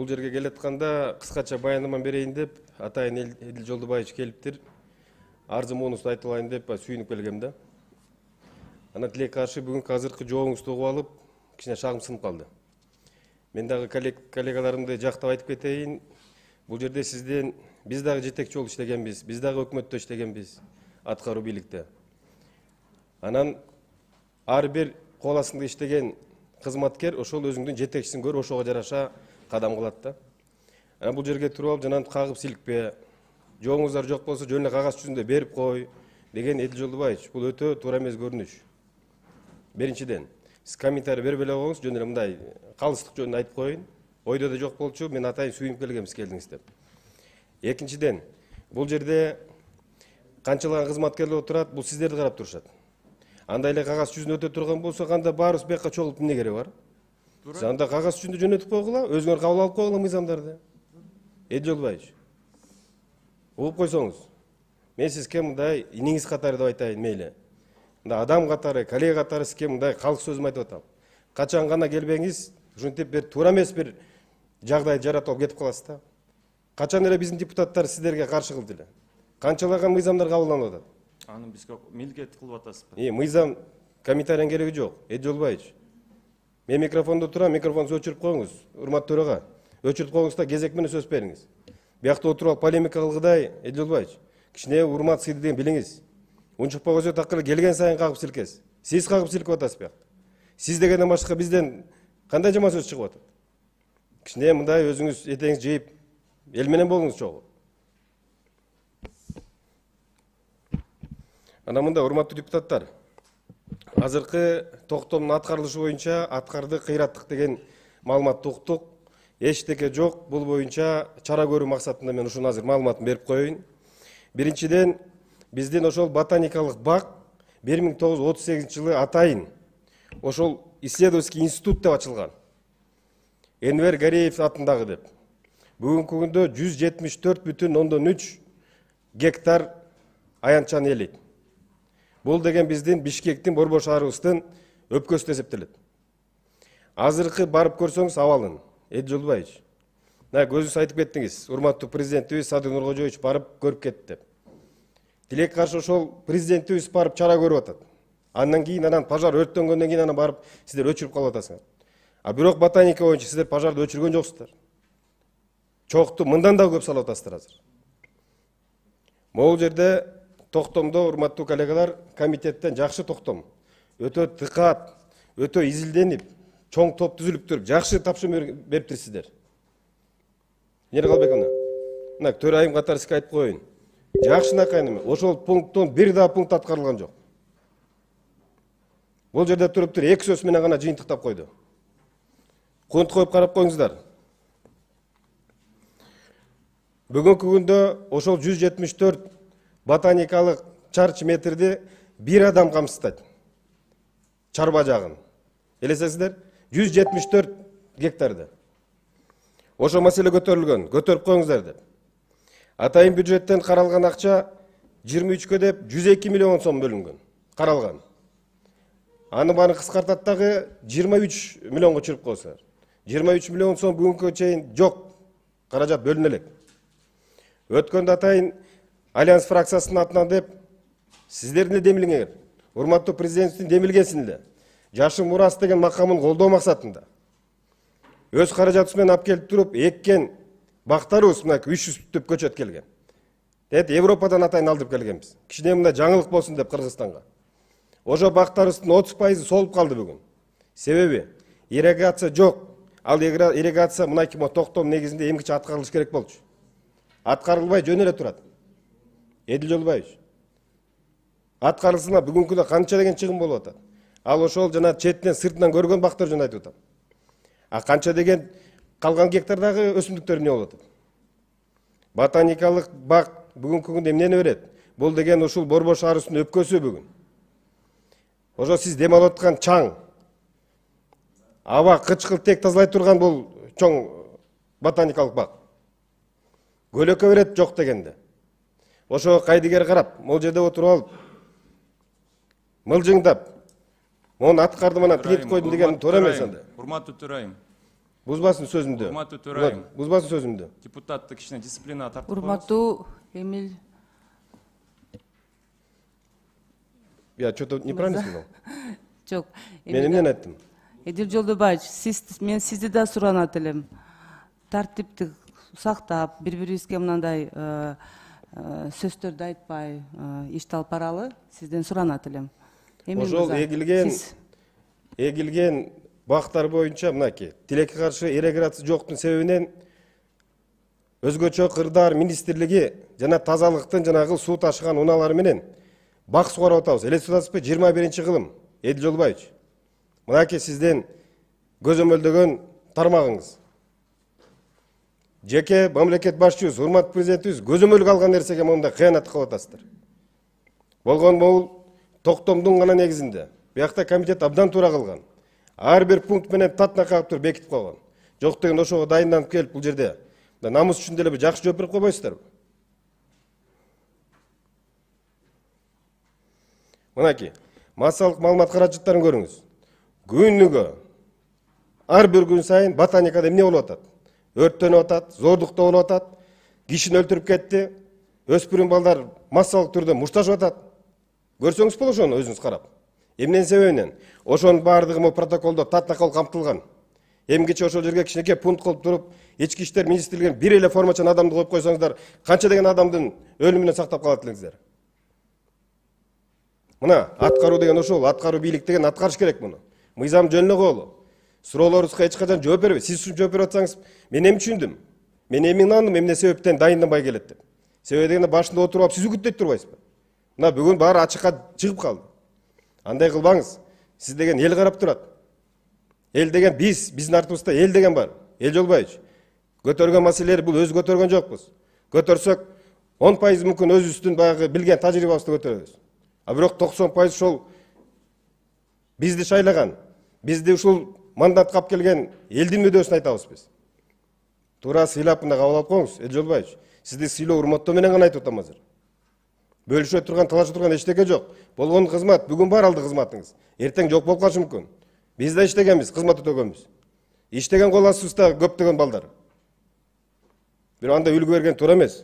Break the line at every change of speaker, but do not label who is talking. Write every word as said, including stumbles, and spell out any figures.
Бул жерге келатканда кыскача баяндама берейин деп атайын Эдил Жолдубаевич келиптир. Арзы монусту айтып алайын деп сүйүнүп келгем да. Анан тилекке каршы бүгүнкү азыркы жообуңузду угуп алып, кичине шагым сынып калды. Мен дагы коллегаларымды жактап айтып кетейин. Бул жерде сизден биз дагы жетекчи болуп иштегенбиз, биз дагы өкмөттө иштегенбиз, аткаруу бийликте. Анан ар бир кол астында иштеген кызматкер ошол өзүңдүн жетекчисин көрүп, ошого жараша кадам кылат да. Анан бул жерге туруп алып жанагынтип кагып силикпе, жообуңуздар жок болсо жөн эле кагаз жүзүндө берип кой деген Эдил Жолдубаевич, бул өтө туура эмес көрүнүш. Биринчиден, сиз комментарий бербей эле коюңуз, жөн эле мындай калыстык жөнүндө айтып коеюн. Ойдо да жок болчу, мен атайын сүйүнүп келгем сиз келдиңиз деп. Экинчиден, бул жерде канчалаган кызматкерлер отурат, бул сиздерди карап турушат. Андай эле кагаз жүзүнө өтө турган болсо, кандай баарыбыз бияка чогулуп эмне кереги бар? Сиз анда кагаз жүзүндө жөнөтүп койгула, өзүңөр кабыл алып койгула мыйзамдарды. Эдил Жолдубаевич, угуп койсоңуз, мен сизге мындай иниңиз катары деп айтайын, мейли. Мындай адам катары, коллега катары сизге мындай калк сөзүм айтып атам. Качан гана келбеңиз, ушинтип бир туура эмес бир жагдайды жаратып алып кетип каласыз да. Качан эле биздин депутаттар сиздерге каршы кылды эле? Канчалаган мыйзамдар кабылданып атат?
Аны бизге милдет кылып атасызбы?
Э, мыйзам комментарийдин кереги жок. Эдил Жолдубаевич, мен микрофондо турам, микрофонуңузду өчүрүп коюңуз. Урматтуу төрага, өчүрүп коюңуз да кезек менен сөз бериңиз. Биякта отуруп алып полемика кылгыдай, Эдил Жолдубаевич, кичине урмат сыйды деген билиңиз. Унчукпай так эле келген сайын кагып силкесиз. Сиз кагып силкип атасыз биякта. Сиз дегенден башка бизден кандай жаман сөз чыгып атат? Кичине мындай өзүңүз этеңиз жыйып, эл менен болуңуз чогуу. Анан мындай урматтуу депутаттар, азыркы токтомдун аткарылышы боюнча аткарды кыйраттык деген маалыматты уктук. Эчтеке жок, бул боюнча чара көрүү максатында мен ушуну азыр маалыматын берип коеюн. Биринчиден, биздин ошол ботаникалык бак бир миң тогуз жүз отуз сегизинчи жылы атайын ошол исследовательский институт деп ачылган. Энвер Гареев атындагы деп. Бүгүнкү күндө жүз жетимиш төрт бүтүн ондон үч гектар аянтчаны ээлейт. Бул деген биздин Бишкектин Борбор шаарыбыздын өпкөсү эсептелет. Азыркы барып көрсөңүз абалын, Эдил Жолдубаевич. Мына көзүңүз айтып кеттиңиз, урматтуу президентибиз Садыр Нуркожоевич барып көрүп кетти деп. Тилекке каршы ошол президентибиз барып чара көрүп атат. Андан кийин анан пожар өрттөнгөндөн кийин анан барып сиздер өчүрүп калып атасыңар. А бирок ботаника боюнча сиздер пожарды өчүргөн жоксуздар. Чокту мындан да көп салып атасыздар азыр. Могул жерде токтомдо, урматтуу коллегалар, комитеттен жакшы токтом. Өтө тыкаат, өтө изилденип, чоң топ түзүлүп туруп, жакшы тапшырма бериптирсиздер. Эмне Калбековна? Мына төрайым катары сизге айтып коеюн. Жакшынакай неме, ошол пункттон бир да пункт аткарылган жок. Бул жерде туруп туруп эки сөз менен гана жыйынтыктап койду. Кунт коюп карап коюңуздар. Бүгүнкү күндө ошол жүз жетимиш төрт ботаникалык чарчы метрди бир адам камсыздайт. Чарба жагын. Элесесиздер? жүз жетимиш төрт гектарды. Ошо маселе көтөрүлгөн, көтөрүп коюңуздар деп. Атайын бюджеттен каралган акча жыйырма үчкө деп жүз эки миллион сом бөлүнгөн, каралган. Аны бааны кыскартат дагы жыйырма үч миллионго чыгып койсоңор. жыйырма үч миллион сом бүгүнкү чейин жок, каражат бөлүнө элек. Өткөндө атайын Альянс фракциясынын атынан деп сиздердин демилиңер, урматтуу президенттин демилгенсин эле. Жашыл мурас деген макамын колдоо максатында өз каражатыбыз менен алып келип туруп эккен бактарыбыз мына үч жүз түп көчөт келген. Эт Европадан атайын алдырып келгенбиз. Кичине мындай жаңылык болсун деп Кыргызстанга. Ошо бактарыбыздын отуз пайызы солуп калды бүгүн. Себеби ирригация жок. Ал ирригация мынайки токтом негизинде эмгиче аткарылыш керек болчу. Аткарылбай жөн эле турат. Эдил Жолдубаевич. Аткарылсына бүгүнкүдө канча деген чыгым болуп атат. Ал ошол жана четтен сыртынан көргөн бактар жөнүндө айтып атам. А канча деген калган гектардагы өсүмдүктөр эмне болуп атат? Ботаникалык бак бүгүнкү күндө эмнени берет? Бул деген ушул Борбор шаарыбыздын өпкөсү бүгүн. Ошо сиз дем алып аткан чаң, аба кычкыл тек тазалай турган бул чоң ботаникалык бак. Көлөкө берет жок дегенде. Ошо кайдыгер карап, могул жерде отуруп алып, мылжыңдап, мону аткарды мына тигип койдум деген туура эмес анда.
Урматтуу төрайым.
Бузбасын сөзүмдү.
Урматтуу төрайым.
Бузбасын сөзүмдү.
Депутатты кичине дисциплинага тартып
Урматтуу Эмил
Я что-то неправильно сказал?
жок.
Мен эмнени айттым?
Эдил Жолдобаевич, сиз мен сизди да суранат элем. Тартипти сактап, бири-бирибизге мындай э, э, сөздөрдү айтпай э, ишти алып баралы, сизден суранат элем. Эмил
Ошол
мырза,
эгилген
сиз-
эгилген бактар боюнча мынакей тилекке каршы иреграция жоктун себебинен өзгөчө кырдаал министрлиги жана тазалыктын жанагы суу ташыган унаалары менен бак сугарып атабыз. Элестип атасызбы? жыйырма биринчи кылым. Эдил Жолдобаевич. Мынакей сизден көзөмөлдөгөн тармагыңыз. Жеке мамлекет башчыбыз, урматтуу президентибиз көзөмөлгө алган нерсеге мындай кыянат кылып атасыздар. Болгон могул токтомдун гана негизинде. Биякта комитет абдан туура кылган. Ар бир пункт менен татна кагып туруп бекитип койгон. Жок деген ошого дайынданып келип бул жерде намус үчүн деле бир жакшы жооп берип койбойсуздарбы? Мынакей, массалык маалымат каражаттарын көрүңүз. Күнүгө ар бир күн сайын ботаникада эмне болуп атат? Өрттөнүп атат, зордуктоо болуп атат, кишини өлтүрүп кетти, өспүрүм балдар массалык түрдө мушташып атат. Көрсөңүз болот ошону өзүңүз карап. Эмненин себебинен? Ошонун баардыгы могу протоколдо татна кылып камтылган. Эмгиче ошол жерге кичинекей пункт кылып туруп, ички иштер министрлигинин бир эле формачан адамды коюп койсоңуздар, канча деген адамдын өлүмүнөн сактап калат элеңиздер? Мына аткаруу деген ошол, аткаруу бийлик деген аткарыш керек муну. Мыйзам жөнүнө коелу. Суроолорубузга эч качан жооп бербей, сиз үчүн жооп берип атсаңыз, мен эми түшүндүм. Мен эми ынандым, эмне себептен дайынданбай келет деп. Себеби дегенде башында отуруп алып сиз үгүттөйт турбайсызбы? Мына бүгүн баары ачыкка чыгып калды. Андай кылбаңыз. Сиз деген эл карап турат. Эл деген биз, биздин артыбызда эл деген бар. Эл Жолбаевич. Көтөргөн маселелер бул өзү көтөргөн жокпуз. Көтөрсөк он пайыз мүмкүн өзүбүздүн баягы билген тажрыйбабызды көтөрөбүз. А бирок токсон пайыз ошол бизди шайлаган, бизди ушул мандат кап келген элдин мүдөөсүн айтабыз биз. Туура сыйлап мына кабыл алып коюңуз, Эдил Жолдобаевич. Сизди сыйлоо урматтоо менен гана айтып атам азыр. Бөлүшө турган, талашып турган эчтеке жок. Болгон кызмат бүгүн бар алды кызматыңыз. Эртең жок болуп калышы мүмкүн. Биз да иштегенбиз, кызмат өтөгөнбүз. Иштеген кол астыбызда көптөгөн балдар. Бирок анда үлгү берген туура эмес.